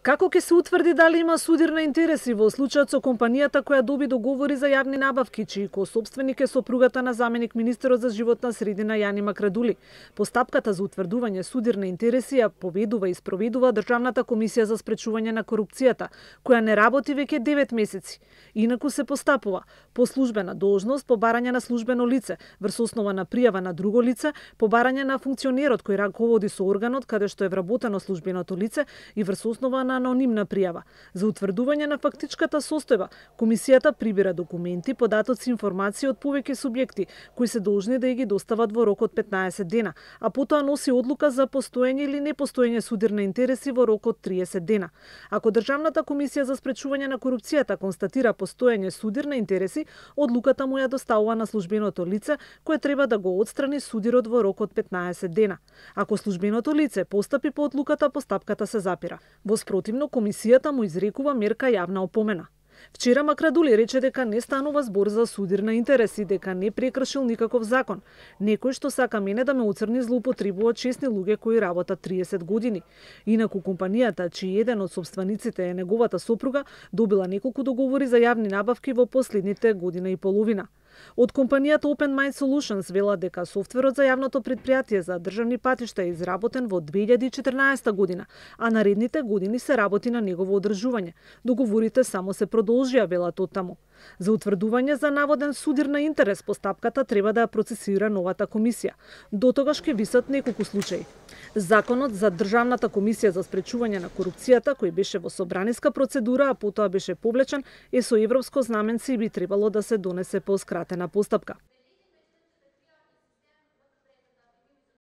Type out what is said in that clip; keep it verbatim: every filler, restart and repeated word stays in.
Како ќе се утврди дали има судир на интереси во случајот со компанијата која доби договори за јавни набавки, чиј косопственик е сопругата на заменик министерот за животна средина Јани Макрадули? Постапката за утврдување судир на интереси ја поведува и спроведува Државната комисија за спречување на корупцијата, која не работи веќе девет месеци. Инаку се постапува по службена должност, по барање на службено лице, врз основа на пријава на друго лице, по барање на функционерот кој раководи со органот каде што е вработено службеното лице и врз основа на анонимна пријава. За утврдување на фактичката состојба, комисијата прибира документи, податоци и информации од повеќе субјекти, кои се должни да ја ги достават во рок од петнаесет дена, а потоа носи одлука за постоење или непостоење судир на интереси во рок од триесет дена. Ако Државната комисија за спречување на корупцијата констатира постоење судир на интереси, одлуката му ја доставува на службеното лице, кое треба да го отстрани судирот во рок од петнаесет дена. Ако службеното лице постапи по одлуката, постапката се запира. Во спротивно, комисијата му изрекува мерка јавна опомена. Вчера Макрадули рече дека не станува збор за судир на интереси, дека не прекршил никаков закон. Некој што сака мене да ме уцрни злоупотребува честни луѓе кои работат триесет години. Инаку компанијата, чиј еден од сопствениците е неговата сопруга, добила неколку договори за јавни набавки во последните година и половина. Од компанијата Open Mind Solutions велат дека софтверот за јавното предпријатие за државни патишта е изработен во две илјади и четрнаесетта година, а наредните години се работи на негово одржување. Договорите само се продолжија, велат оттаму. За утврдување за наводен судир на интерес, постапката треба да ја процесира новата комисија. До тогаш ќе висат неколку случаи. Законот за Државната комисија за спречување на корупцијата, кој беше во собраниска процедура, а потоа беше повлечен, е со европско знаменце и би требало да се донесе по скратена постапка.